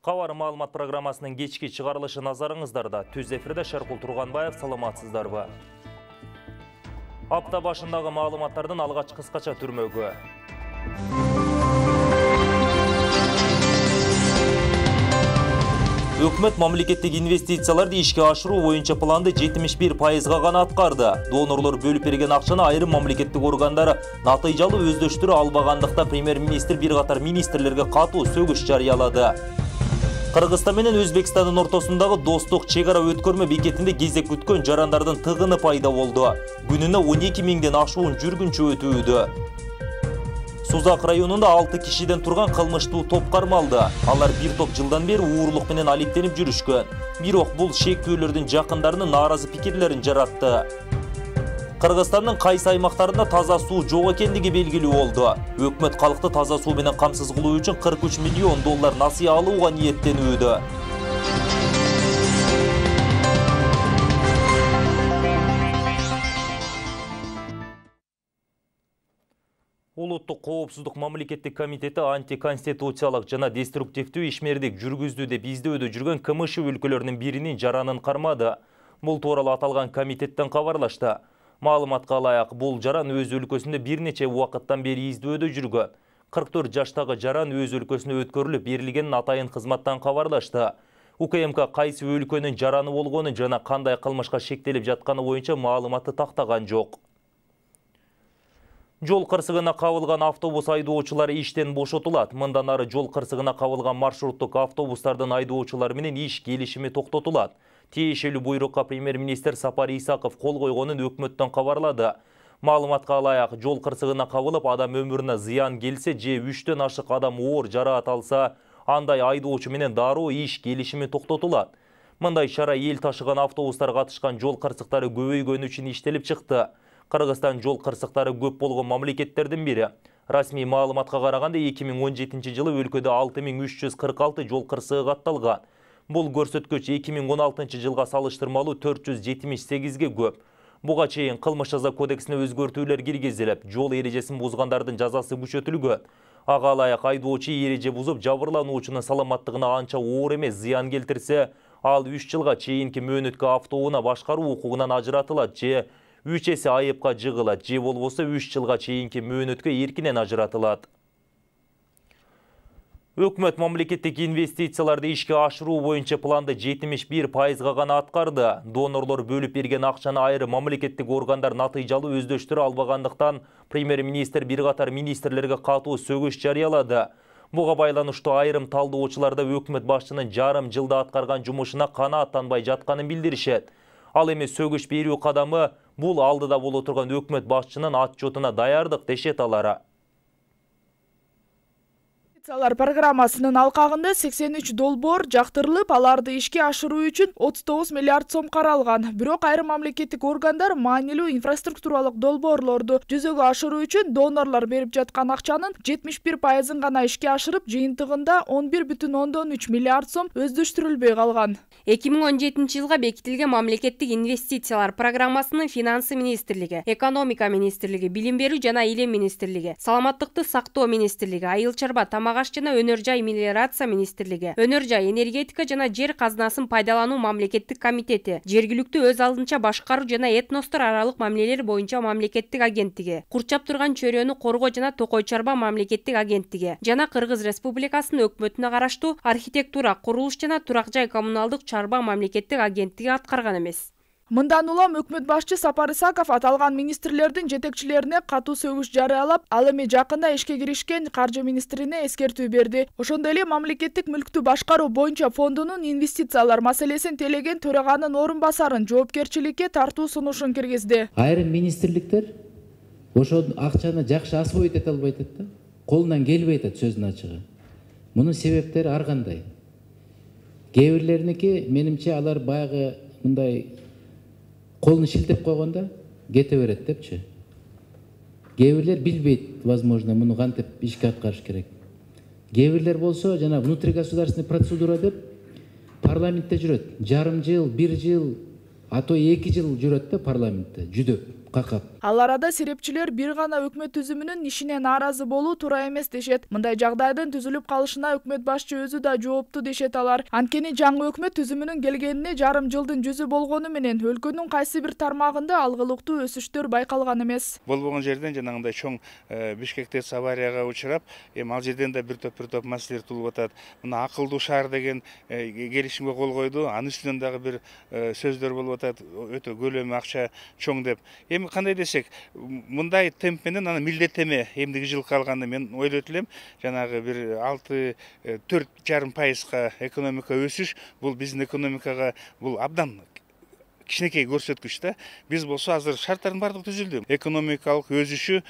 Кабар маалымат программасынын кечки чыгарылышы назарыңыздарда. Түз эфирде Шаркул Турганбаев, саламатсыздарбы? Апта башындагы маалыматтардын алгач кыскача түрмөгү. Өкмөт мамлекеттик инвестицияларды ишке ашыруу боюнча планды 71%га гана аткарды. Донорлор бөлүп берген акчаны айрым мамлекеттик органдар натыйжалуу өздөштүрө албагандыкта премьер-министр бир катар министрлерге катуу сөгүш жарыялады. Кыргызстан менен Өзбекстандын ортосундагы достук чек ара өткөрмө бекетинде кезек күткөн жарандардын тыгыны пайда болду. Күнүнө 12 миңден ашуун жүргүнчү өтүүдө. Сузак районунда 6 кишиден турган кылмыштуу топ кармалды. Алар бир топ жылдан бери уурулук менен алектенип жүрүшкөн. Бирок бул шектүүлөрдүн жакындарынын нааразы пикирлерин жаратты. Кыргызстандын кайсы аймактарында таза суу жок экендиги белгилүү болду. Өкмөт калкты таза суу менен камсыз кылуу үчүн $43 миллион насыя алууга ниеттенүүдө. Улуттук коопсуздук мамлекеттик комитети антиконституциялык жана деструктивдүү ишмердик жүргүздү деп издөөдө жүргөн КМШ өлкөлөрүнүн биринин жаранын кармады. Бул тууралуу аталган комитеттен кабарлашты. Маалыматка ылайык, бул жаран өз өлкөсүндө бир нече убакыттан бери издөөдө жүргөн. 44 жаштагы жаран өз өлкөсүнө өткөрүлүп берилгенин атайын кызматтан кабарлашты. УКМК кайсы өлкөнүн жараны болгону жана кандай кылмышка шектелип жатканы боюнча маалыматты тактаган жок. Жол кырсыгына кабылган автобус айдоочулары иштен бошотулат. Мындан ары жол кырсыгына кабылган маршруттук автобустардын айдоочулары менен иш келишими токтотулат. Тиешелүү буйрукка премьер-министр Сапар Исаков кол койгонун өкмөттөн кабарлады. Маалыматка ылайык, жол кырсыгына кабылып адам өмүрүнө зыян келсе же 3төн ашык адам оор жараат алса, андай айдоочу менен дароо иш келишими токтотулат. Мындай чара эл ташыган автобустар катышкан жол кырсыктары көбөйгөнү үчүн иштелип чыкты. Кыргызстан жол кырсыктары көп болгон мамлекеттердин бири. Расмий маалыматка караганда 2017 жылы өлкөдө 6346 жол кырсыгы катталган. Бул көрсөткүч 2016 жылга салыштырмалуу 478ге көп. Буга чейин кылмыш жаза кодексине өзгөртүүлөр киргизилип, жол эрежесин бузгандардын жазасы күчөтүлгөн. Ага ылайык айдоочу эреже бузуп жабырлануучунун саламаттыгына анча оор эмес зыян келтирсе, ал 3 жылга чейинки мөөнөткө автоунаа башкаруу укугунан ажыратылат же 3 эсе айыпка жыгылат же болбосо 3 жылга чейинки мөөнөткө эркинен ажыратылат. Өкмөт мамлекеттик инвестицияларды ишке ашыруу боюнча планды 71%га гана аткарды. Донорлор бөлүп берген акчаны айрым мамлекеттик органдар натыйжалуу өздөштүрө албагандыктан премьер-министр бир катар министрлерге катуу сөгүш жарыялады. Буга байланыштуу айрым талдоочуларда өкмөт башчынын жарым жылда аткарган жумушуна канааттанбай жатканын билдиришет. Ал эми сөгүш берүү кадамы бул алдыда боло турган өкмөт башчынын отчетуна даярдык дешет алар. Инвестициялар программасынын алкагында 83 долбоор жактырылып, аларды ишке ашыруу үчүн 39 миллиард сом каралган. Бирок айрым мамлекеттик органдар маанилүү инфраструктуралык долбоорлорду жүзөгө ашыруу үчүн донорлор берип жаткан акчанын 71%-ын гана ишке ашырып, жыйынтыгында 11,3 миллиард сом өздөштүрүлбөй калган. 2017 жылга бекитилген мамлекеттик инвестициялар программасынын финансы министрлиги, экономика министрлиги, билим берүү жана илим министрлиги, саламаттыкты сактоо министрлиги, айыл чарба тамак аш жана өнөр жай мелиорация министрлиги, өнөр жай энергетика жана жер казынасын пайдалануу мамлекеттик комитети, жергиликтүү өз алдынча башкаруу жана этностор аралык мамилелер боюнча мамлекеттик агенттиги, курчап турган чөйрөнү коргоо жана токой чарба мамлекеттик агенттиги жана Кыргыз Республикасынын өкмөтүнө караштуу архитектура, курулуш жана турак жай коммуналдык чарба мамлекеттик агенттиги аткарган эмес. Мындан улам өкмөт башчы Сапар Исаков аталган министрлердин жетекчилерине катуу сөгүш жарыялап, ал эми жакында ишке киришкен каржы министрине эскертүү берди. Ошондой эле мамлекеттик мүлктү башкаруу боюнча фондунун инвестициялар маселесин телеген төраганын орун басарын жоопкерчиликке тартуу сунушун киргизди. Айрым министрликтер ошол акчаны жакшы освоить эте албай атат да, колунан келбей атат сөздүн ачыгы. Мунун себептери ар кандай. Кээ бирлериники менимче алар баягы мындай колун шилтеп койгондо кете берет депчи. Кээ бирлер билбейт, возможно, муну кантип ишке аткарыш керек. Кээ бирлер болсо жана внутригосударственный процедура деп парламентте жүрөт. Жарым жыл, 1 жыл, а то 2 жыл жүрөт да парламентте жүдөп. какап. Ал арада серепчилер бир гана өкмөт түзүмүнүн ишине нааразы болуу туура эмес дешет. Мындай жагдайдын түзүлүп калышына өкмөт башчы өзү да жоопту дешет алар. Анткени жаңы өкмөт түзүмүнүн келгенине жарым жылдын жүзү болгону менен өлкөнүн кайсы бир тармагында алгылыктуу өсүштөр байкалган эмес. Болбогон жерден жанагындай чоң Бишкекте аварияга учурап, эми ал жерден да бир топ маселелер туулуп атат. Мына акылдуу шаар деген келишимге кол койду. Анын үстүнөн дагы бир сөздөр болуп атат. Өтө көлөмү акча чоң деп. Эми кандай десек, мындай темп менен аны милдеттеме эмдиги жылы калганда мен ойлойт элем, жанагы бир 4,5% экономика өсүш, бул биздин экономикага бул абдан кичинекей көрсөткүч да. Биз болсо азыр шарттардын бардыгы түзүлдү. Экономикалык өсүшү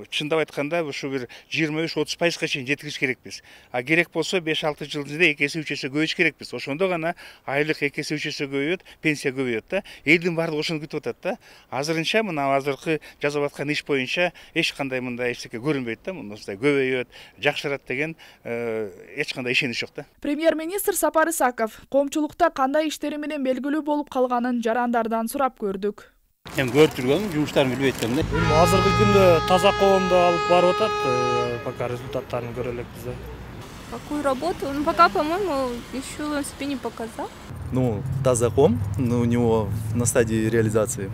чындап айтканда ушу бир 23-30%га чейин жеткириш керекпиз. А керек болсо 5-6 жыл ичинде 2 эсе 3 эсе көбөйүш керекпиз. Ошондо гана айлык 2 эсе 3 эсе көбөйөт, пенсия көбөйөт да. Элдин бардыгы ошону күтүп атат да. Азырынча мына азыркы жасап аткан иш боюнча эч кандай мындай эчтеке көрүнбөйт да. Мындай көбөйөт, жакшырат деген эч кандай ишенич жок да. Премьер-министр Сапар Исаков коомчулукта кандай иштери менен белгилүү болуп калганын жарандардан сурап көрдүк. Эми көрүп жүргөнүм, жумуштарын билбей эткем да. Азыркы күндө таза коомду алып барып атат, пока результаттарын көрө элекпиз да. Какую работу? Ну, пока, по-моему, еще он себе не показал. Ну, Тазаком, но у него на стадии реализации.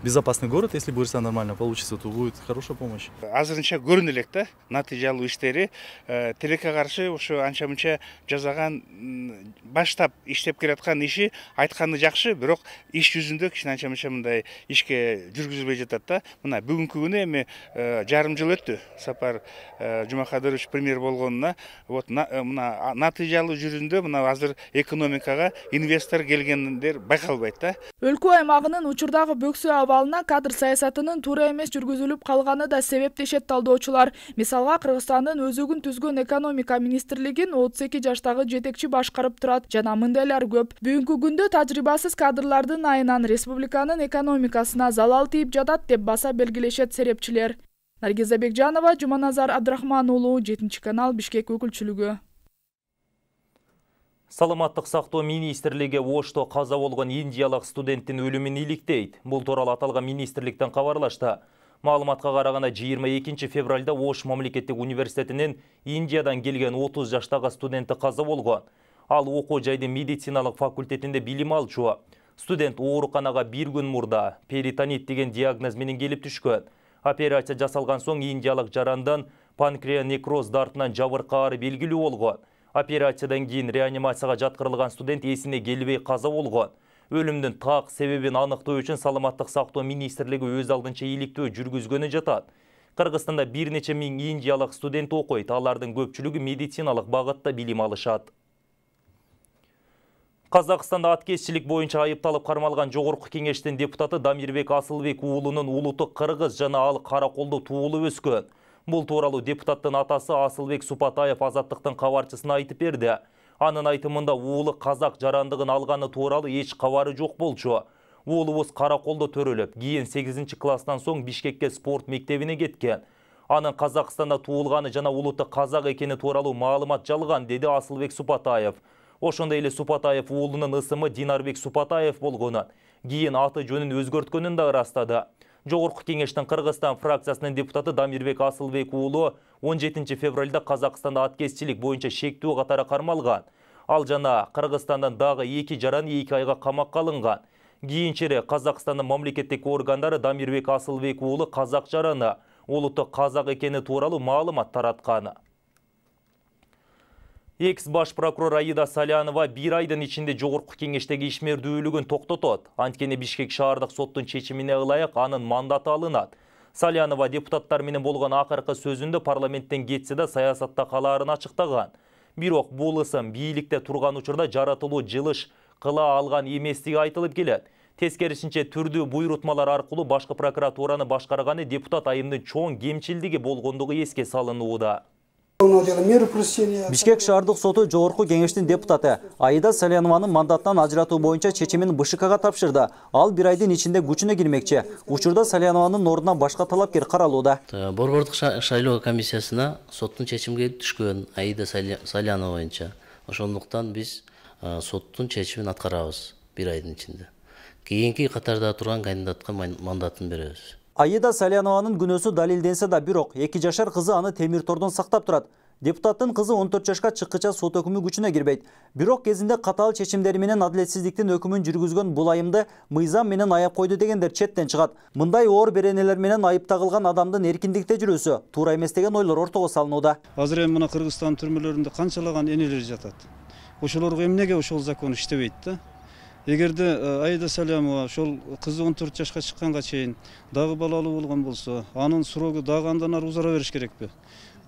Безопасный город, если будет все нормально получится, то будет хорошая помощь. Азырынча көрүнө элек да, натыйжалуу иштери тилекке каршы ошо анча-мынча жасаган, баштап иштеп келаткан иши айтканы жакшы, бирок иш жүзүндө кичине анча-мынча мындай ишке жүргүзүлбөй жатат да. Мына бүгүнкү күнү эми жарым жыл өттү Сапар Жумакадырович премьер болгонуна. Вот мына натыйжалуу жүрүндө мына азыр экономикага инвестор келгендер байкалбайт да. Өлкө аймагынын учурдагы бөксө абалына кадр саясатынын туура эмес жүргүзүлүп калганы да себеп дешет талдоочулар. Мисалга, Кыргызстандын өзөгүн түзгөн экономика министрлигин 32 жаштагы жетекчи башкарып турат жана мындайлар көп. Бүгүнкү күндө тажрыйбасыз кадрлардын айынан республиканын экономикасына залал тийип жатат деп баса белгилешет серепчилер. Наргиза Бекжанова, Жуманазар Абдрахман уулу, 7-канал, Бишкек өкүлчүлүгү. Саламаттык сактоо министрлиги Ошто каза болгон индиялык студенттин өлүмүн иликтейт. Бул тууралуу аталган министрликтен кабарлашты. Маалыматка караганда 22 февралда Ош мамлекеттик университетинин Индиядан келген 30 жаштагы студенти каза болгон. Ал окуу жайдын медициналык факультетинде билим алчу. Студент ооруканага бир күн мурда перитонит деген диагноз менен келип түшкөн. Операция жасалган соң индиялык жарандан панкреонекроз дартынан жабыркаары белгилүү болгон. Операциядан кийин реанимацияга жаткырылган студент эсине келбей каза болгон. Өлүмдүн так себебин аныктоо үчүн Саламаттык сактоо министрлиги өз алдынча иликтөө жүргүзгөнү жатат. Кыргызстанда бир нече миң индиялык студент окуйт, алардын көпчүлүгү медициналык багытта билим алышат. Казакстанда аткезчилик боюнча айыпталып кармалган Жогорку кеңештин депутаты Дамирбек Асылбек уулунун улуты кыргыз жана ал Караколдо туулуп өскөн. Бул тууралуу депутаттын атасы Асылбек Супатаев Азаттыктын кабарчысына айтып берди. Анын айтымында уулу казак жарандыгын алганы тууралуу эч кабары жок болчу. Уулубуз Караколдо төрөлүп, кийин 8-класстан соң Бишкекке спорт мектебине кеткен. Анын Казакстанда туулганы жана улуты казак экени тууралуу маалымат жалган, деди Асылбек Супатаев. Ошондой эле Супатаев уулунун ысымы Динарбек Супатаев болгонун, кийин аты жөнүн өзгөрткөнүн да ырастады. Жогорку кеңештин Кыргызстан фракциясынын депутаты Дамирбек Асылбек уулу 17 февралда Казакстанда аткезчилик боюнча шектүү катары кармалган. Ал жана Кыргызстандан дагы 2 жаран 2 айга камакка алынган. Кийинчерээк Казакстандын мамлекеттик органдары Дамирбек Асылбек уулу казак жараны, улуты казак экени тууралуу маалымат тараткан. Экс-баш прокурор Аида Салянова 1 айдын ичинде Жогорку кеңештеги ишмердүүлүгүн токтотот. Анткени Бишкек шаардык соттун чечимине ылайык анын мандаты алынат. Салянова депутаттар менен болгон акыркы сөзүндө парламенттен кетсе да саясатта калаарын ачыктаган. Бирок бул ысым бийликте турган учурда жаратылуу жылыш кыла алган эместиги айтылып келет. Тескерисинче түрдүү буйрутмалар аркылуу башкы прокуратураны башкарганы депутат айымдын чоң кемчилдиги болгондугу эске салынууда. Бишкек шаардык соту Жогорку кеңештин депутаты Аида Салянованын мандаттан ажыратуу боюнча чечимин БШКга тапшырды. Ал 1 айдын ичинде күчүнө кирмекчи. Учурда Салянованын ордуна башка талапкер каралууда. Борбордук шайлоо комиссиясына соттун чечими келип түшкөн Аида Салянова боюнча. Ошондуктан биз соттун чечимин аткарабыз 1 айдын ичинде. кийинки катарда турган кандидатка мандатын беребиз. Аида Салянованын күнөөсү далилденсе да бирок 2 жашар кызы аны темир тордон сактап турат. Депутаттын кызы 14 жашка чыккыча сот өкүмү күчүнө кирбейт. Бирок кезинде катаал чечимдери менен адилетсиздиктин өкүмүн жүргүзгөн бул айымды мыйзам менен аяп койду дегендер четтен чыгат. Мындай оор беренелер менен айып тагылган адамдын эркиндикте жүрүүсү туура эмес деген ойлор ортого салынууда. Азыр эми мына Кыргызстан түрмөлөрүндө канчалаган энелер жатат. Ошолорго эмнеге ошол закон иштебейт да? Эгерде Аида Салянова ошол кызы 14 жашка чыкканга чейин дагы балалуу болгон болсо, анын срогу дагы андан ары узара бериш керекпи?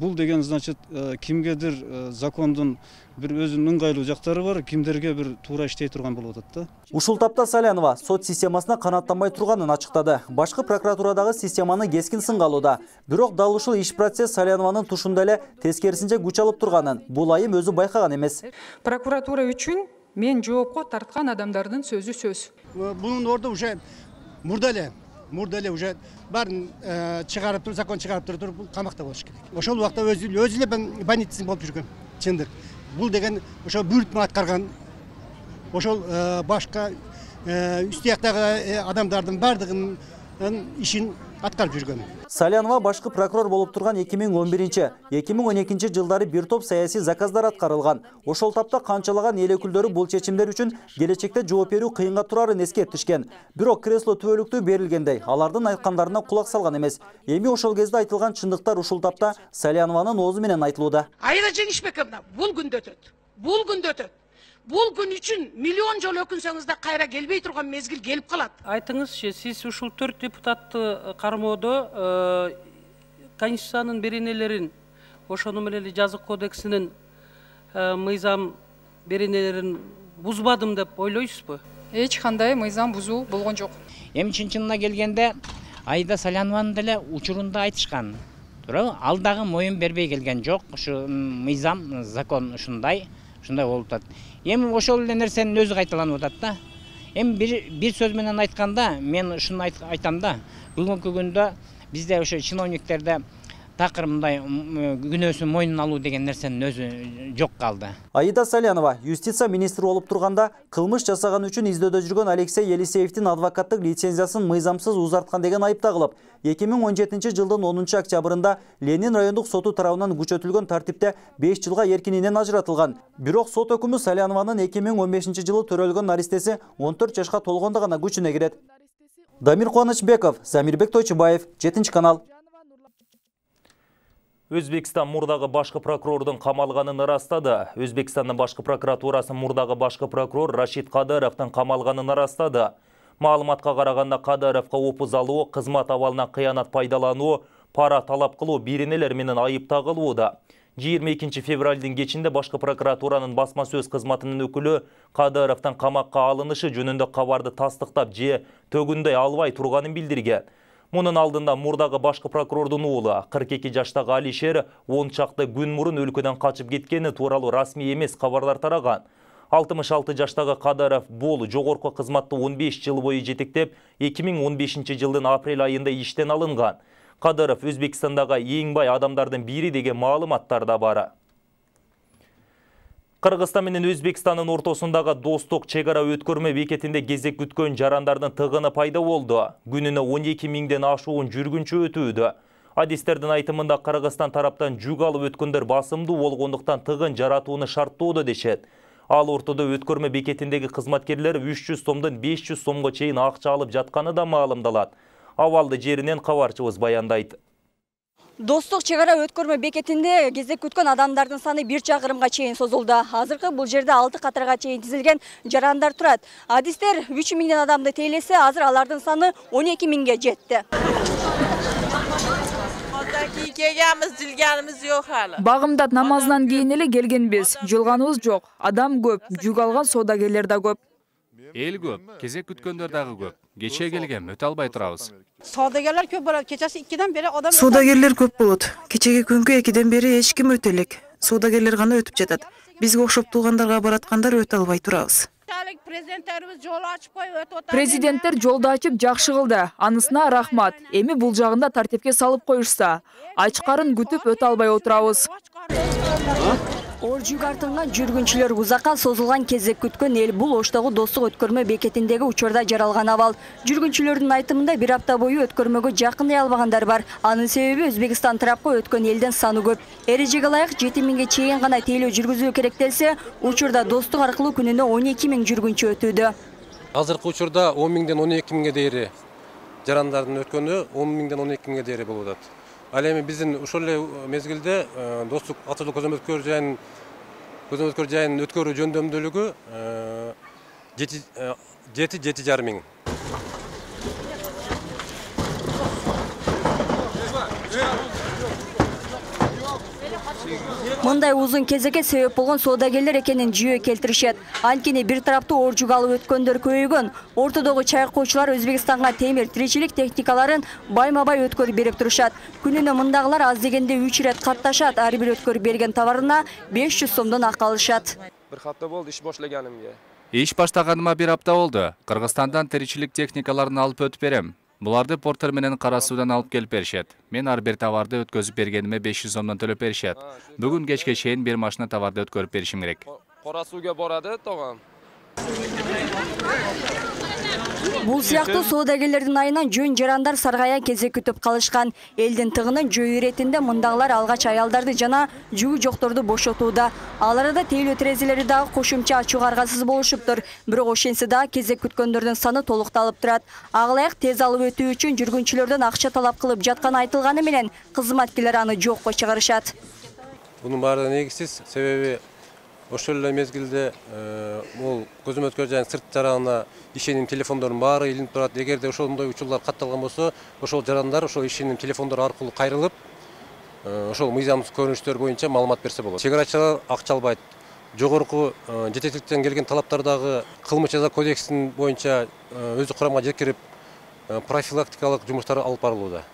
Бул деген значит кимгедир закондун бир өзүнүн ыңгайлуу жактары бар, кимдерге бир туура иштей турган болуп атат да. Ушул тапта Салянова сот системасына канааттанбай турганын ачыктады. Башкы прокуратурадагы системаны кескин сынга алууда. Бирок дал ушул иш процесс Салянованын тушунда эле тескерисинче күч алып турганын бул айым өзү байкаган эмес. Прокуратура үчүн мен жоопко тарткан адамдардын сөзү сөз. Бунун орду уже мурда эле уже баарын чыгарып туруп, закон чыгарып туруп камакта болуш керек. Ошол убакта өзү эле больницасын болуп жүргөн. Чындык. Бул деген ошол буйрутма аткарган. Ошол башка үст жактагы адамдардын бардыгынын ишин аткарып жүргөн. Салянова башкы прокурор болуп турган 2011-2012 жылдары бир топ саясий заказдар аткарылган. Ошол тапта канчалаган эл өкүлдөрү бул чечимдер үчүн келечекте жооп берүү кыйынга турарын эскертишкен. Бирок кресло түбөлүктүү берилгендей, алардын айткандарына кулак салган эмес. Эми ошол кезде айтылган чындыктар ушул тапта Салянованын оозу менен айтылууда. Аида Жеңишбековна, бул күндө өтөт. Бул күн үчүн миллион жолу өкүнсөңүз да кайра келбей турган мезгил келип калат. Айтыңызчы, сиз ушул 4 депутатты кармоодо Конституциянын беренелерин, ошону менен эле жазык кодексинин мыйзам беренелерин бузбадым деп ойлойсузбу? Эч кандай мыйзам бузуу болгон жок. Эми чын-чынына келгенде Аида Салянованын деле учурунда айтышкан. Ал дагы моюн бербей келген жок. Ушу мыйзам, закон ушундай болуп атат. Эми ошол эле нерсенин өзү кайталанып атат да. Эми бир сөз менен айтканда, мен ушуну айтам да. Бүгүнкү күндө бизде ошо чиновниктерде такыр мындай күнөөсүн мойнуна алуу деген нерсенин өзү жок калды. Аида Салянова юстиция министри болуп турганда кылмыш жасаган үчүн издөөдө жүргөн Алексей Елисеевдин адвокаттык лицензиясын мыйзамсыз узарткан деген айып тагылып, 2017 жылдын 10 октябрында Ленин райондук соту тарабынан күчөтүлгөн тартипте 5 жылга эркининен ажыратылган. Бирок сот өкүмү Салянованын 2015 жылы төрөлгөн наристеси 14 жашка толгондо гана күчүнө кирет. Дамир Кубанычбеков, Замирбек Тойчубаев, 7 канал. Өзбекстан мурдагы башкы прокурордун камалганын ырастады. Өзбекстандын башкы прокуратурасы мурдагы башкы прокурор Рашид Кадыровдун камалганын ырастады. Маалыматка караганда Кадыровго опуз алуу, кызмат абалынан кыянат пайдалануу, пара талап кылуу беренелер менен айып тагылууда. 22 февралдын кечинде башкы прокуратуранын басма сөз кызматынын өкүлү Кадыровдун камакка алынышы жөнүндө кабарды тастыктап же төгүндөй албай турганын билдирген. Мунун алдында мурдагы башкы прокурордун уулу 42 жаштагы Алишер 10 чакты күн мурун өлкөдөн качып кеткени тууралуу расмий эмес кабарлар тараган. 66 жаштагы Кадыров бул жогорку кызматты 15 жыл бою жетектеп, 2015 жылдын апрель айында иштен алынган. Кадыров Өзбекстандагы эң бай адамдардын бири деген маалыматтар да бар. Кыргызстан менен Өзбекстандын ортосундагы достук чегара өткөрмө бекетинде кезек күткөн жарандардын тыгыны пайда болду. Күнүнө 12 миңден ашуун жүргүнчү өтүүдө. Адистердин айтымында Кыргызстан тараптан жүк алып өткөндөр басымдуу болгондуктан тыгын жаратууну шарттоодо дешет. Ал ортодо өткөрмө бекетиндеги кызматкерлер 300 сомдон 500 сомго чейин акча алып жатканы да маалымдалат. Абалды жеринен кабарчыбыз баяндайт. Достук чегара өткөрмө бекетинде кезек күткөн адамдардын саны 1 чакырымга чейин созулду. Азыркы бул жерде 6 катарга чейин тизилген жарандар турат. Адистер 3 миңден адамды тейлесе, азыр алардын саны 12 миңге жетти. Багымдат намазынан кийин эле келгенбиз. Жолганыбыз жок. Адам көп, жүк алган соодагерлер да көп. Эл көп, кезек күткөндөр дагы көп. Кече келген, өтө албай турабыз. Соодагерлер көп болот. Кечеси 2ден бери адам. Соодагерлер көп болот. Кечеги күнгө 2ден бери эч ким өтө элек. Соодагерлер гана өтүп жатат. Бизге окшоп туугандарга бараткандар өтө албай турабыз. Президенттер жолду ачып жакшы кылды. Анысына рахмат. Эми бул жагында тартипке салып коюшса, ачкарын күтүп өтө албай отурабыз. Оржуг артылган жүргүнчүлөр узакка созулган кезек күткөн эл бул Оштогу достук өткөрмө бекетиндеги учурда жаралган абал. Жүргүнчүлөрдүн айтымында бир апта бою өткөрмөгө жакындай албагандар бар. Анын себеби Өзбекстан тарапка өткөн элдин саны көп. Эрежеге ылайык 7000ге чейин гана тейлөө жүргүзүү керектелсе, учурда достук аркылуу күнүнө 12000 жүргүнчү өтүүдө. Азыркы учурда 10.000ден 12.000ге дейри жарандардын өткөнү 10.000ден 12.000ге дейри болуп атат. Ал эми биздин ошол эле мезгилде достук автожол көзөмөлдөө жайын өткөрүү жөндөмдүүлүгү 7,5 миң. Мындай узун кезекке себеп болгон соодагерлер экенин жүйө келтиришет. Анткени бир тараптуу Оржуг алып өткөндөр көбөйгөн. Ортодогу чайкоочулар Өзбекстанга темир тиричилик техникаларын байма-бай өткөрүп берип турушат. Күнүнө мындагылар аз дегенде 3 ирет катташат. Ар бир өткөрүп берген товарына 500 сомдон акы алышат. Bir hafta болду иш башлаганымга. Иш баштаганыма бир апта болду. Кыргызстандан тиричилик техникаларын алып өтүп берем. Буларды портер менен кара суудан алып келип беришет. Мен ар бир товарды өткөзүп бергениме 500 сомдон төлөп беришет. Бүгүн кечке чейин бир машина товарды өткөрүп беришим керек. Кара сууга барады, тогам. Бул сыяктуу соодагерлердин айынан жөн жарандар саргая кезек күтүп калышкан. Элдин тыгынын жөө иретинде мындагылар алгач аялдарды жана жүгү жокторду бошотууда. Ал арада тейлөө терезелери дагы кошумча ачууга аргасыз болушуптур. Бирок ошентсе дагы кезек күткөндөрдүн саны толукталып турат. Ага тез алып өтүү үчүн жүргүнчүлөрдөн акча талап кылып жатканы айтылганы менен кызматкерлер аны жокко чыгарышат. Бунун баары негизсиз, себеби ошол эле мезгилде бул көзөмөлдөө жайын сырт жаранына ишеним телефондордун баары илинип турат. Эгерде ошондой учурлар катталган болсо, ошол жарандар ошол ишеним телефондор аркылуу кайрылып, ошол мыйзамсыз көрүнүштөр боюнча маалымат берсе болот. Чегарачылар акча албайт. Жогорку жетекчиликтен келген талаптардагы кылмыш жаза кодексинин боюнча өзү курамга жеткирип профилактикалык жумуштар алып барылууда.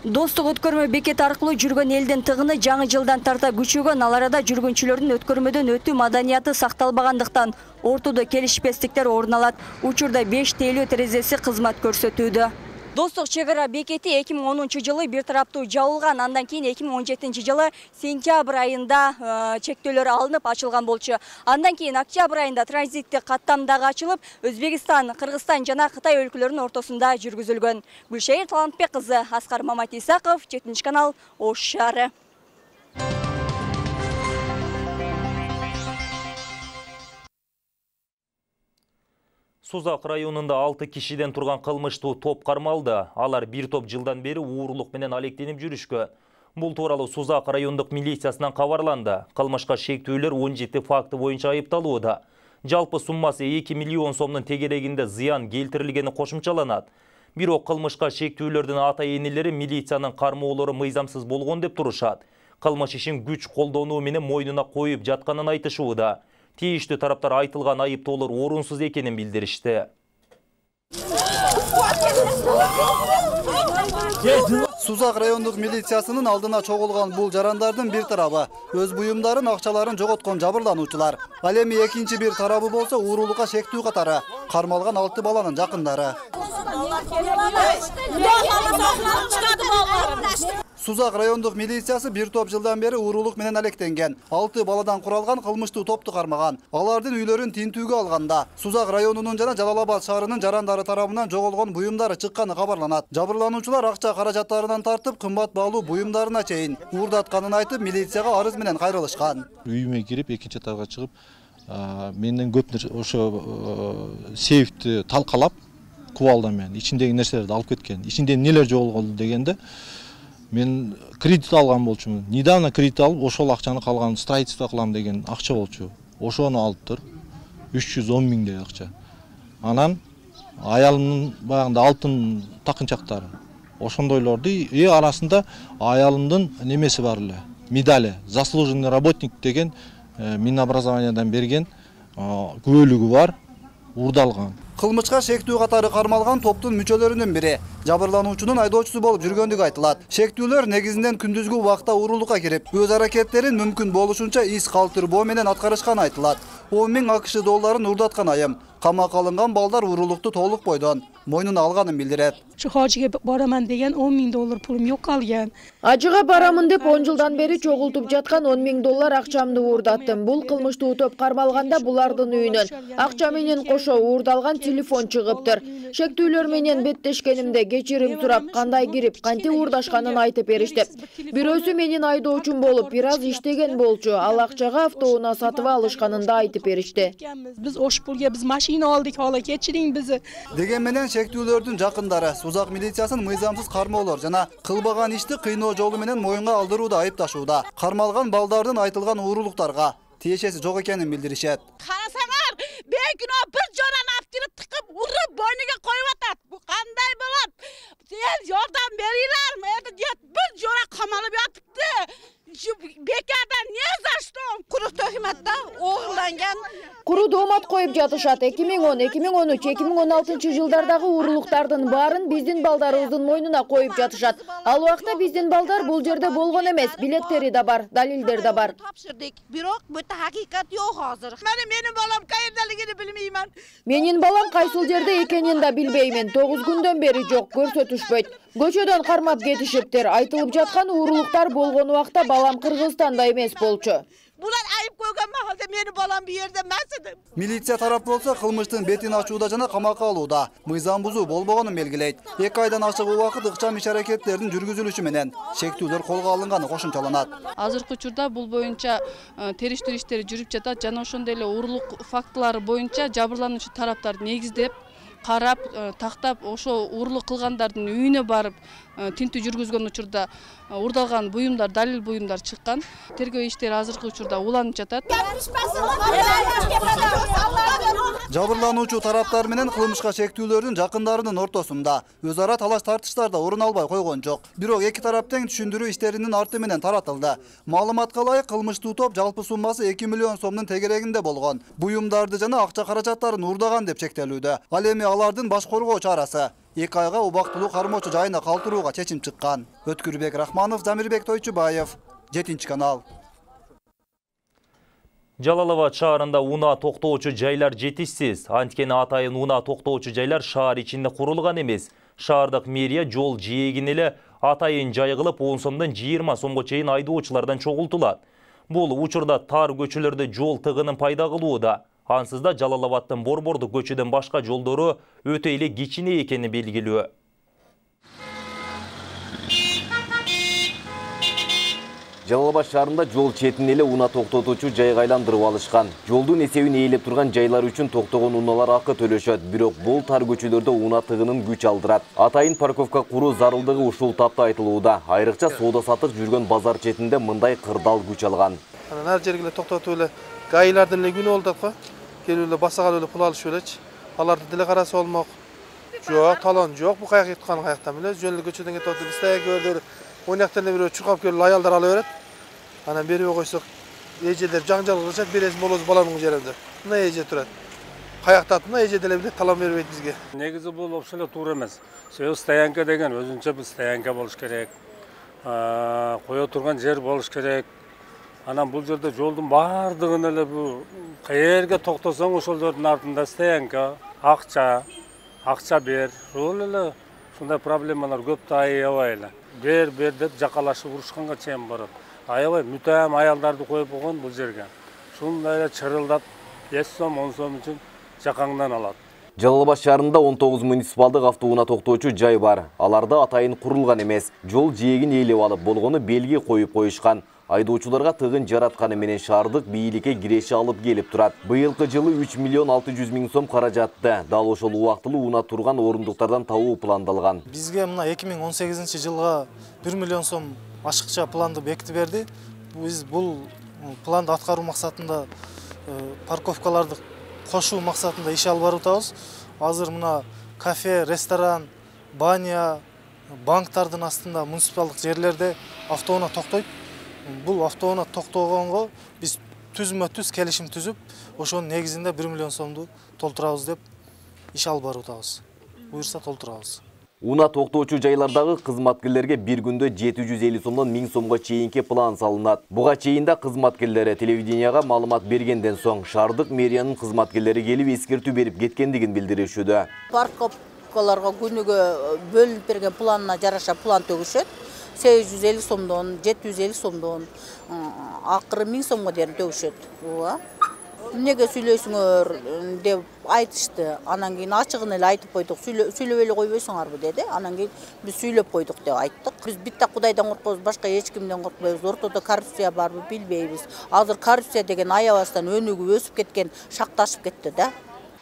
Достук өткөрмө бекети аркылуу жүргөн элдин тыгыны жаңы жылдан тарта күчөгөн. Ал арада жүргүнчүлөрдүн өткөрмөдөн өтүү маданияты сакталбагандыктан ортодо келишпестиктер орун алат. Учурда 5 тейлөө терезеси кызмат көрсөтүүдө. Достук чек ара бекети 2010 жылы бир тараптуу жабылган. Андан кийин 2017 жылы сентябрь айында чектөөлөр алынып ачылган болчу. Андан кийин октябрь айында транзиттик каттам дагы ачылып, Өзбекстан, Кыргызстан жана Кытай өлкөлөрүнүн ортосунда жүргүзүлгөн. Гүлшайыр Талантбек кызы, Аскар Маматисаков, 7 канал, Ош шаары. Сузак районунда 6 кишиден турган кылмыштуу топ кармалды. Алар бир топ жылдан бери уурулук менен алектенип жүрүшкөн. Бул тууралуу Сузак райондук милициясынан кабарланды. Кылмышка шектүүлөр 17 факты боюнча айыпталууда. Жалпы суммасы 2 миллион сомдун тегерегинде зыян келтирилгени кошумчаланат. Бирок кылмышка шектүүлөрдүн ата-энелери милициянын кармоолору мыйзамсыз болгон деп турушат. Кылмыш ишин күч колдонуу менен мойнуна коюп жатканын айтышууда. Тийиштүү тараптар айтылган айыптоолор орунсуз экенин билдиришти. Сузак райондук милициясынын алдына чогулган бул жарандардын бир тарабы өз буюмдарын, акчаларын жоготкон жабырлануучулар. Ал эми экинчи бир тарабы болсо уурулукка шектүү катары кармалган 6 баланын жакындары. Сузак райондук милициясы бир топ жылдан бери уурулук менен алектенген 6 баладан куралган кылмыштуу топту кармаган. Алардын үйлөрүн тинтүүгө алганда Сузак районунун жана Жалал Абад шаарынын жарандары тарабынан жоголгон буюмдары чыкканы кабарланат. Жабырлануучулар акча каражаттарынан тартып, кымбат баалуу буюмдарына чейин уурдатканын айтып, милицияга арыз менен кайрылышкан. Үйүмө кирип, экинчи этажга чыгып, менден көп нерсе ошо сейфти талкалап, кубалдан менен ичиндеги нерселерди алып кеткен. Ичинде нелер жоголду дегенде мен кредит алган болчумун. Недавно кредит алып, ошол акчаны калган строительство кылам деген акча болчу. Ошону алыптыр. 310 миңдей акча. Анан аялымдын баягында алтын такынчактары. Ошондойлорду арасында аялымдын немеси бар эле. Медали. Заслуженный работник деген Минобразованиядан берген күбөлүгү бар. Урдалган. Кылмышка шектүү катары кармалган топтун мүчөлөрүнүн бири Жабырлануучунун айдоочусу болуп жүргөндүгү айтылат. Шектүүлөр негизинен күндүзгү убакта уурулукка кирип, өз аракеттерин мүмкүн болушунча из калтырбоо менен аткарышканы айтылат. 10 000 АКШ долларын урдаткан айым. Камакка алынган балдар уурулукту толук бойдон мойнуна алганын билдирет. Hajga boraman degan 10 000 dollar pulum yo'q qolgan. Ажыга барамын деп 10 жылдан бери чогултуп жаткан 10 000 доллар акчамды уурдаттым. Бул кылмыштуу топ кармалганда булардын үйүнөн акча менен кошо уурдалган телефон чыгыптыр. Шектүүлөр менен беттешкенимде кечирим сурап, кандай кирип, кантип уурдашканын айтып беришти. Бирөөсү менин айдоочум болуп, бир аз иштеген болчу. Ал акчага автоунаа сатып алышканын да айтып беришти. Biz osh pulga biz mashina oldik, hola kechiring bizni. Деген менен шектүүлөрдүн жакындары Сузак милициясын мыйзамсыз кармоолор жана кылбаган ишти кыйноо жолу менен моюнга алдырууда айыпташууда. Кармалган балдардын айтылган уурулуктарга тиешеси жок экенин билдиришет. Карасаңар, бекино bir жоран аптырып тыкып, уруп бойнуга коюп атат. Бу кандай болот? Сен жардам берилерми? Bir жора камалып жатыпты. Бекардан не за что? Куру төкмөттө оолданген. Куру доомат коюп жатышат. 2010, 2013, 2016 жылдардагы уурулуктардын баарын биздин балдарыбыздын мойнуна коюп жатышат. Ал убакта биздин балдар бул жерде болгон эмес, билеттери да бар, далилдер да бар. Тапшырдык, бирок бүт хакыйкат жок азыр. Менин балам кайердалыгын билмеймин. Менин балам кайсыл жерде экенин да билбеймин. 9 күндөн бери жок, көрсөтүшпөйт. Көчөдөн кармап кетишиптир. Айтылып жаткан уурулуктар болгон убакта балам Кыргызстанда эмес болчу. Булар айып койгон махалда менин балам бу жерде эмес эди. Милиция тарап болсо кылмыштын бетин ачууда жана камакка алууда мыйзам бузуу болбогонун белгилейт. 2 айдан ашык убакыт ыкчам иш-аракеттердин жүргүзүлүшү менен шектүүлөр колго алынганы кошумчаланат. Азыркы учурда бул боюнча териштирүү иштери жүрүп жатат жана ошондой эле уурулук фактылары боюнча жабырлануучу тараптар негиздеп карап, тактап, ошо уурулук кылгандардын үйүнө барып, тинтүү жүргүзгөн учурда уурдалган буюмдар, далил буюмдар чыккан. Тергөө иштери азыркы учурда уланып жатат. Жабырлануучу тараптар менен кылмышка шектүүлөрдүн жакындарынын ортосунда өз ара талаш тартыштар да орун албай койгон жок. Бирок эки тарап тең түшүндүрүү иштеринин арты менен таратылды. Маалыматка ылайык кылмыштуу топ жалпы суммасы 2 миллион сомдун тегерегинде болгон. Буюмдарды жана акча каражаттарын уурдаган деп чектелүүдө. Ал эми алардын баш коргоо чарасы 2 айга убактылуу кармоочу жайына калтырууга чечим чыккан. Өткүрбек Рахманов, Замирбек Тойчубаев, 7-канал. Жалал Абад шаарында унаа токтоочу жайлар жетишсиз. Анткени атайын унаа токтоочу жайлар шаар ичинде курулган эмес. Шаардык мэрия жол жээгин эле атайын жай кылып 10 сомдон 20 сомго чейин айдоочулардан чогултулат. Бул учурда тар көчөлөрдө жол тыгынын пайда кылууда. Ансыз да Жалал Абадтын Борбордук көчөдөн башка жолдору өтө эле кичине экени белгилүү. Жалал Абад шаарында жол четин эле унаа токтотуучу жайга айландырып алышкан. Жолдун эсебин ээлеп турган жайлар үчүн токтогон унаалар акы төлөшөт, бирок бул тар көчөлөрдө унаа тыгынын күч алдырат. Атайын парковка куруу зарылдыгы ушул тапта айтылууда. Айрыкча соода сатык жүргөн базар четинде мындай кырдаал күч алган. Ар жерге токтотуп эле гайлардын эле күнү болду да, келип эле басаган эле пул алышып элечи. Аларды деле караса болмок. Жок, талон жок, бу каяк кеткан каяктан эле жөн эле көчөдөн кетип атып, бизде көрдүр. Ойнактан бирөө чуркап келип аялдар ала берет. Анан берип койсок, эжелер жаңжал кылышат, бересиң болосу баламның жеринде. Мына эже турат. Каяктат мына эже деле билет, талон бербейт бизге. Негизи бул вообще эле туура эмес. Себеби стоянка деген өзүнчө бул стоянка болуш керек. Кое турган жер болуш керек. Анан бул жерде жолдун баардыгын эле бул каерге токтосоң ошол жердин артында стоянка, акча бер. Ошол эле ушундай проблемалар көп да аябай эле. Бер деп жакалашып урушканга чейин барат. Аябай мүтөм аялдарды коюп койгон бул жерге. Ушундай эле чырылдап 5 сом, 10 сом үчүн жакаңдан алат. Жалал Абад шаарында 19 муниципалдык автоунаа токтоочу жай бар. Аларда атайын курулган эмес. Жол жээгин ээлеп алып, болгону белги коюп коюшкан. Айдоочуларга тыгын жаратканы менен шаардык бийликке киреши алып келип турат. Быйылкы жылы 3 миллион 600 миң сом каражатты. Дал ошол убактылуу унаа турган орундуктардан табуу пландалган. Бизге мына 2018-жылга 1 миллион сом ашыкча планды бекитип берди. Биз бул планды аткаруу максатында парковкаларды кошуу максатында иш алып барып атабыз. Азыр мына кафе, ресторан, баня, банктардын астында муниципалдык жерлерде автоунаа токтойт. Бул автоунаа токтогонго биз түзмө-түз келишим түзүп, ошонун негизинде 1 миллион сомду толтурабыз деп иш алып барып атабыз. Буюрса толтурабыз. Уна токтоочу жайлардагы кызматкерлерге бир күндө 750 сомдон 1000 сомго чейинки план салынат. Буга чейин да кызматкерлери телевиденияга маалымат бергенден соң шаардык мэриянын кызматкерлери келип эскертүү берип кеткендигин билдиришүүдө. Парковкаларга күнүгө бөлүнүп берген планына жараша план төгүшөт. 850 сомдон, 750 сомдон, акыры 1000 сомго чейин төгүшөт. Эмнеге сүйлөйсүңөр деп айтышты. Анан кийин ачыгын эле айтып койдук. Сүйлөп эле койбойсуңарбы деди. Анан кийин биз сүйлөп койдук деп айттык. Биз битте Кудайдан коркпойбуз, башка эч кимден коркпойбуз. Ортодо коррупция барбы билбейбиз. Азыр коррупция деген аябастан өнүгүп өсүп кеткен, шакташып кетти да.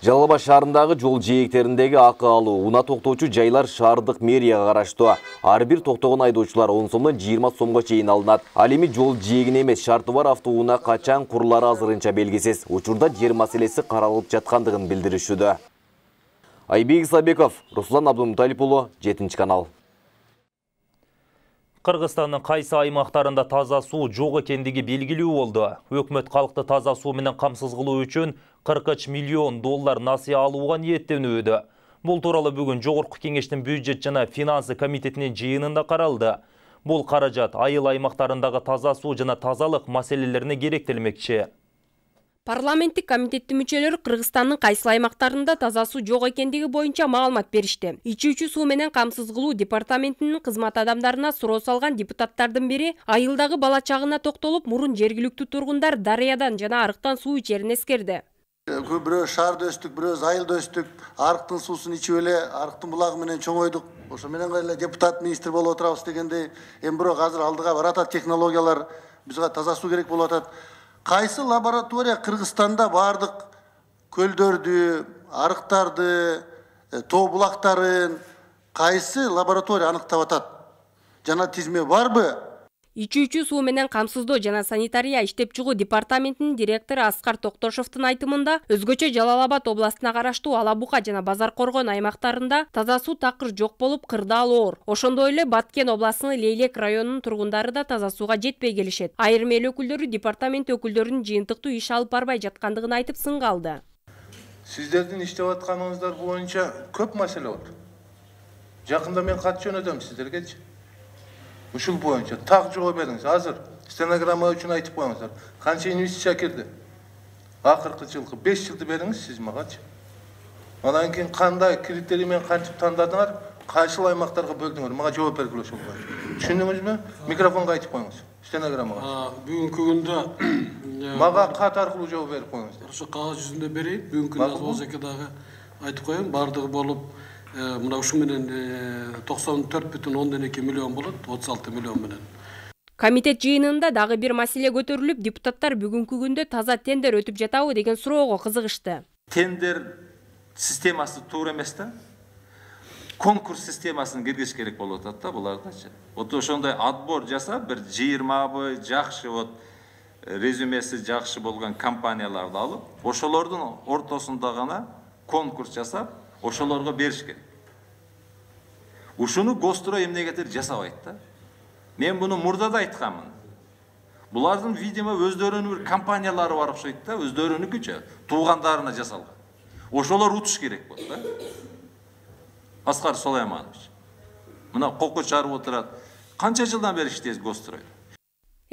Жалал Абад шаарындагы жол жээктериндеги акы алуу, уна токтоочу жайлар шаардык мэрияга караштуу. Ар бир токтогон айдоочулар 10 сомдон 20 сомго чейин алынат. Ал эми жол жээгине эмес, шарты бар автоунаа качан курулары азырынча белгисиз. Учурда жер маселеси каралып жаткандыгын билдиришүүдө. Айбек Исабеков, Руслан Абдумуталип уулу, 7 канал. Кыргызстандын кайсы аймактарында таза суу жок экендиги белгилүү болду. Өкмөт калкты таза суу менен камсыз кылуу үчүн 43 миллион доллар насыя алууга ниеттенүүдө. Бул тууралуу бүгүн Жогорку Кеңештин бюджет жана финансы комитетинин жыйынында каралды. Бул каражат айыл аймактарындагы таза суу жана тазалык маселелерине керектелмекчи. Парламенттик комитеттин мүчөлөрү Кыргызстандын кайсы аймактарында таза суу жок экендиги боюнча маалымат беришти. Ичүүчү суу менен камсыз кылуу департаментинин кызмат адамдарына суроо салган депутаттардын бири айылдагы бала чагына токтолуп, мурун жергиликтүү тургундар дарыядан жана арыктан суу ичерин эскерди. Бирөө шаарда өстүк, бирөөбүз айылда өстүк, арыктын суусун ичип эле, арыктын булагы менен чоңойдук. Ошо менен эле депутат министр болуп отурабыз дегендей, эми бирок азыр алдыга баратат технологиялар, бизге таза суу керек болуп атат. Кайсы лаборатория Кыргызстанда бардык көлдөрдү, арыктарды, тоо булактарын кайсы лаборатория аныктап атат? Жана тизме барбы? Ичүүчү суу менен камсыздоо жана санитария иштеп чыгуу департаментинин директору Аскар Токтошовдун айтымында, өзгөчө Жалал Абад областына караштуу Ала Бука жана Базар Коргон аймактарында таза суу такыр жок болуп, кырдаал оор. Ошондой эле Баткен областынын Лейлек районунун тургундары да таза сууга жетпей келишет. Айрым эл өкүлдөрү департамент өкүлдөрүнүн жыйынтыктуу иш алып барбай жаткандыгын айтып сынга алды. Сиздердин иштеп атканыңыздар боюнча көп маселе бар. Жакында мен кат жөнөтөм сиздергечи. Ушул боюнча так жооп бериңиз. Азыр стенограмма үчүн айтып коюңуздар. Канча инвестиция кирди? Акыркы жылкы 5 жылды бериңиз сиз магачы. Анан кийин кандай критерий менен кантип тандадыңар? Кайсыл аймактарга бөлдүңөр? Мага жооп бергиле ошол боюнча. Түшүндүңүзбү? Микрофонго айтып коюңуз. Стенограммага. Бүгүнкү күндө мага кат аркылуу жооп берип коюңуздар. Ошо кагаз жүзүндө берейин. Бүгүнкү күндө болсо дагы айтып коеюн. Бардыгы болуп мына ушу менен 94,2 миллион болот, 36 миллион менен. Комитет жыйынында дагы бир маселе көтөрүлүп, депутаттар бүгүнкү күндө таза тендер өтүп жатабы деген суроого кызыгышты. Тендер системасы туура эмес да. Конкурс системасын киргизиш керек болуп атат да булардачы. Вот ошондой отбор жасап, бир 20 жакшы резюмеси жакшы болгон компанияларды алып, ошолордун ортосунда гана конкурс жасап, ошолорго бериш керек. Ушуну Гострой эмнегетир жасабайт да. Мен буну мурда да айтканмын. Булардын, видимо, өздөрүнүн бир компаниялары бар окшойт да, өздөрүнүкүчө, туугандарына жасалган. Ошолор утуш керек болот да. Аскар Сулайманович. Мына коку чарып отурат. Канча жылдан бери иштейбиз Гострой?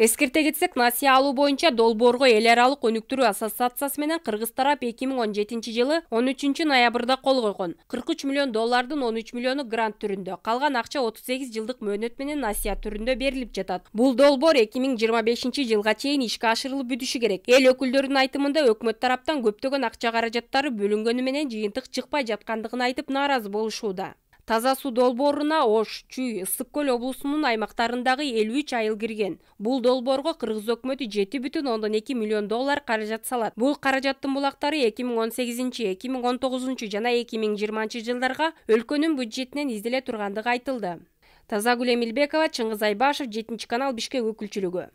Эскерте кетсек, насыя алуу боюнча Долбоорго эл аралык өнүктүрүү ассоциациясы менен Кыргыз тарап 2017 жылы 13 ноябрда кол койгон. 43 миллион доллардын 13 миллиону грант түрүндө, калган акча 38 жылдык мөөнөт менен насыя түрүндө берилип жатат. Бул долбоор 2025 жылга чейин ишке ашырылып бүтүшү керек. Эл өкүлдөрүнүн айтымында өкмөт тараптан көптөгөн акча каражаттары бөлүнгөнү менен жыйынтык чыкпай жаткандыгын айтып нааразы болушууда. Таза суу долбооруна Ош, Чүй, Ысык көл облусунун аймактарындагы 53 айыл кирген. Бул долбоорго Кыргыз өкмөтү 7,2 миллион доллар каражат салат. Бул каражаттын булактары 2018, 2019 жана 2020 жылдарга өлкөнүн бюджетинен изделе тургандыгы айтылды. Тазагүл Эмилбекова, Чыңгыз Айбашев, 7 канал, Бишкек өкүлчүлүгү.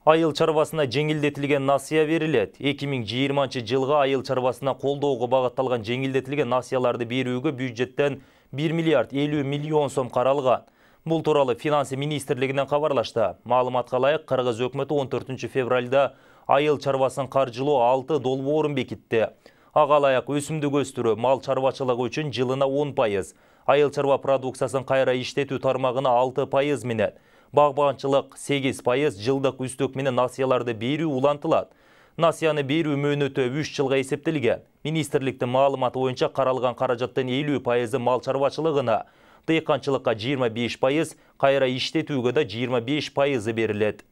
Айыл чарбасына жеңилдетилген насыя берилет. 2020 жылга айыл чарбасына колдоого багытталган жеңилдетилген насыяларды берүүгө бюджеттен 1 миллиард 50 миллион сом каралган. Бул тууралуу финансы министрлигинен кабарлашты. Маалыматка ылайык, Кыргыз өкмөтү 14 февралда айыл чарбасын каржылоо 6 долбоорун бекитти. Агалаяк өсүмдүк өстүрүү мал чарбачылыгы үчүн жылына 10%, айыл чарба продукциясын кайра иштетүү тармагына 6% менен, багбанчылык 8%, жылдык үстөк менен насыяларды берүү улантылат. Насыяны берүү мөөнөтү 3 жылга эсептелген. Министрликтин маалыматы боюнча каралган каражаттын 50% мал чарбачылыгына, дыйканчылыкка 25%, кайра иштетүүгө да 25% берилет.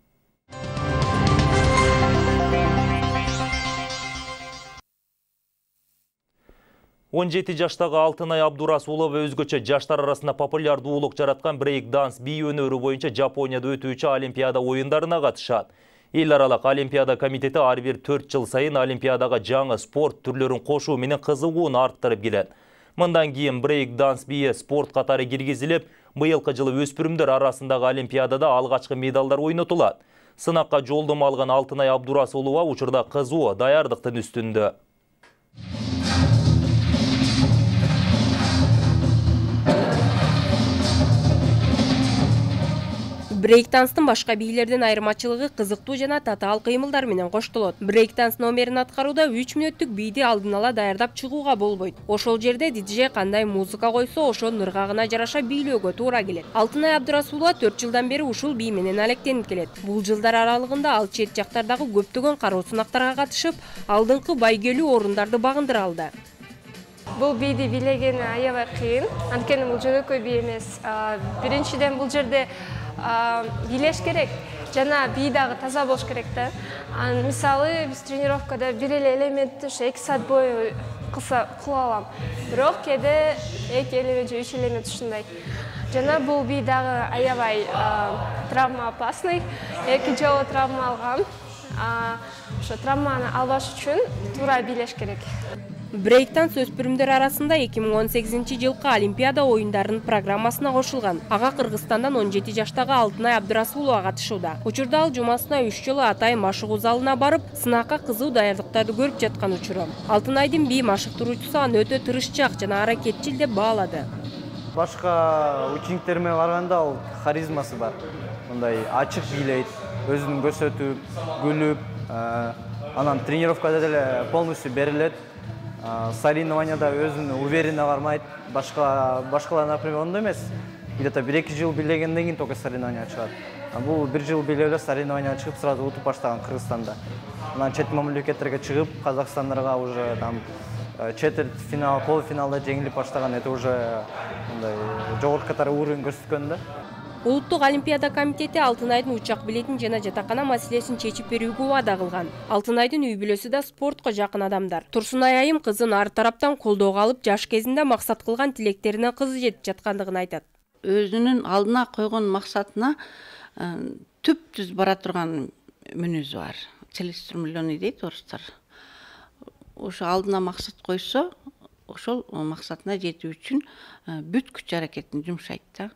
Он 17 жаштагы Алтынай Абдурасулова өзгөчө жаштар арасында популярдуулук жараткан брейк-данс бий өнөрү боюнча Жапонияда өтүүчү Олимпиада оюндарына катышат. Эл аралык Олимпиада комитети ар бир 4 жыл сайын Олимпиадага жаңы спорт түрлөрүн кошуу менен кызыгууну арттырып келет. Мындан кийин брейк-данс бийи спорт катары киргизилип, быйылкы жылы өспүрүмдөр арасындагы Олимпиадада алгачкы медалдар ойнотулат. Сынакка жолдомо алган Алтынай Абдурасулова учурда кызуу даярдыктын үстүндө. Брейк-данстын башка бийлерден айырмачылыгы кызыктуу жана татаал кыймылдар менен коштолот. Брейк-данс номерин аткарууда 3 мүнөттүк бийди алдын ала даярдап чыгууга болбойт. Ошол жерде диджей кандай музыка койсо, ошонун ыргагына жараша бийлөөгө туура келет. Алтынай Абдурасулова 4 жылдан бери ушул бий менен алектенип келет. Бул жылдар аралыгында ал чет жактардагы көптөгөн кароо сынактарга катышып, алдыңкы байгелүү орундарды багындыра алды. Бул бийди бийлеген аябай кыйын, анткени бул жөнөкөй бий эмес. Биринчиден бул жерде бийлеш керек, жана бий дагы таза болуш керек да. Мисалы, биз тренировкада бир эле элементти 2 саат бою кыла алам. Бирок кээде 2 элемент же 3 элемент ушундай. Жана бул бий дагы аябай травма опасный. 2 жолу травма алгам. Ошо травманы албаш үчүн туура бийлеш керек. Брейк-данс өспүрүмдөр арасында 2018 жылкы Олимпиада оюндарынын программасына кошулган. Ага Кыргызстандан 17 жаштагы Алтынай Абдурасулова катышууда. Учурда ал жумасына 3 жолу Атай машыгуу залына барып, сынакка кызуу даярдыктарды көрүп жаткан учуру. Алтынайдын бий машыктыруучусу аны өтө тырышчаак жана аракетчил деп баалады. Башка учениктериме барганда ал харизмасы бар. Мындай ачык бийлейт, өзүн көрсөтүп, күлүп, анан тренировкада деле полностью берилет. Соревнованияда өзүн уверенно бармайт. Башкалар, например, ондой эмес. Где-то 1-2 жыл бийлегенден кийин только соревнования чыгат. Бул 1 жыл бийлеп эле соревнования чыгып, сразу утуп баштаган Кыргызстанда. Анан чет мамлекеттерге чыгып, Казакстандарга уже там четверть финал, полуфиналда жеңилип баштаган. Это уже мындай жогорку катары уровень көрсөткөн да. Улуттук Олимпиада комитети Алтынайдын учак билетин жана жатакана маселесин чечип берүүгө убада кылган. Алтынайдын үй бүлөсү да спортко жакын адамдар. Турсунай айым кызын ар тараптан колдоого алып, жаш кезинде максат кылган тилектерине кызы жетип жаткандыгын айтат. Өзүнүн алдына койгон максатына түп-түз бара турган мүнөзү бар. Целеустремленный дейт орустар. Ошо алдына максат койсо, ошол максатына жетүү үчүн бүт күч аракетин жумшайт да.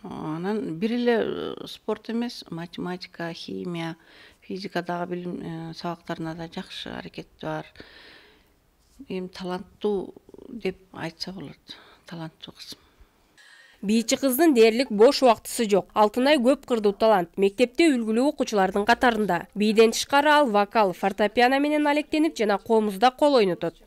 Анан бир эле спорт эмес, математика, химия, физикадагы билим сабактарына да жакшы аракети бар. Эми таланттуу деп айтса болот. Таланттуу кыз. Бийчи кыздын дээрлик бош убактысы жок. Алтынай көп кырдуу талант. Мектепте үлгүлүү окуучулардын катарында. Бийден тышкары ал вокал, фортепиано менен алектенип жана комузда кол ойнотот.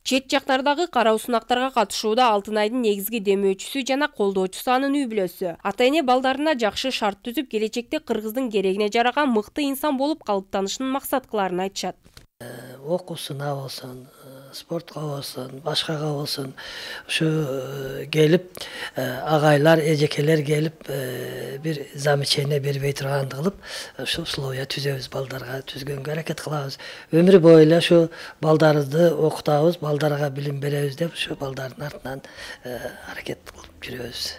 Чет жактардагы кароо сынактарга катышууда Алтынайдын негизги демөөчүсү жана колдоочусу анын үй бүлөсү. Ата-эне балдарына жакшы шарт түзүп, келечекте Кыргыздын керегине жараган мыкты инсан болуп калыптанышын максат кыларын айтышат. Окуусуна болсун, спортко болсун, башкага болсун, ушу келип агайлар, эжекелер келип бир замечание бербей турганды кылып, ушу условия түзөбүз, балдарга түзгөнгө аракет кылабыз. Өмүр бою эле ушу балдарыбызды окутабыз, балдарга билим беребиз деп ушу балдардын артынан аракет кылып жүрөбүз.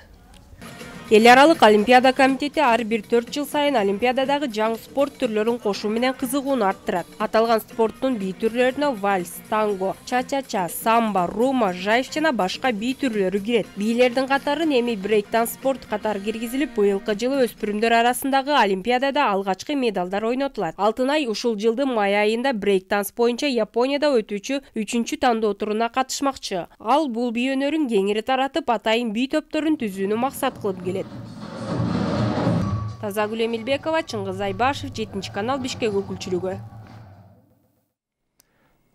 Эл аралык Олимпиада комитети ар бир 4 жыл сайын Олимпиададагы жаңы спорт түрлөрүн кошуу менен кызыгууну арттырат. Аталган спорттун бий түрлөрүнө вальс, танго, ча-ча-ча, самба, рума, жайф жана башка бий түрлөрү кирет. Бийлердин катары эми брейк-данс спорт катары киргизилип, быйылкы жылы өспүрүмдөр арасындагы Олимпиадада алгачкы медалдар ойнотулат. Алтынай ушул жылдын май айында брейк-данс боюнча Японияда өтүүчү 3-чү тандоо туруна катышмакчы. Ал бул бий өнөрүн кеңири таратып, атайын бий топторун түзүүнү максат кылып келет. Тазагүл Эмилбекова, Чыңгыз Айбашев, 7-канал, Бишкек өкүлчүлүгү.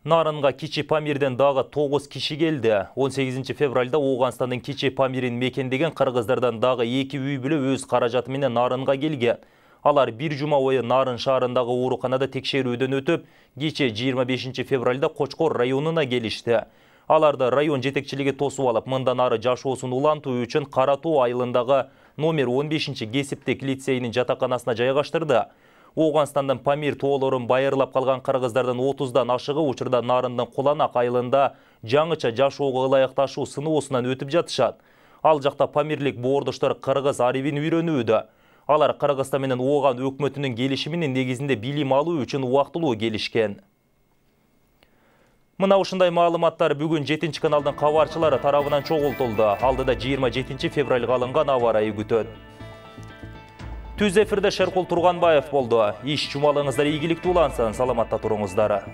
Нарынга Кичи Памирден дагы 9 киши келди. 18 февралда Оғанстандын Кичи Памирин мекендеген кыргыздардан дагы 2 үй бүлө өз каражаты менен Нарынга келген. Алар бир жума бою Нарын шаарындагы ооруканада текшерүүдөн өтүп, кече 25 февралда Кочкор районуна келишти. Аларды район жетекчилиги тосуп алып, мындан ары жашоосун улантуу үчүн Кара Тоо айылындагы номер 15 кесиптик лицейнин жатаканасына жайгаштырды. Оғанстандын Памир тоолорун байырлап калган кыргыздардын 30дан ашыгы учурда Нарындын Куланак айылында жаңыча жашоого ылайыкташуу сыноосунан өтүп жатышат. Ал жакта Памирлик боордоштор кыргыз арибин үйрөнүүдө. Алар Кыргызстан менен Оған өкмөтүнүн келишиминин негизинде билим алуу үчүн убактылуу келишкен. Мына ушундай маалыматтар бүгүн 7-каналдын кабарчылары тарабынан чогултулду. Алдыда 27 февралга алынган аба ырайы күтөт. Түз эфирде Шеркул Турганбаев болду. Иш жумалыңыздар ийгиликтүү улансын, саламатта туруңуздар.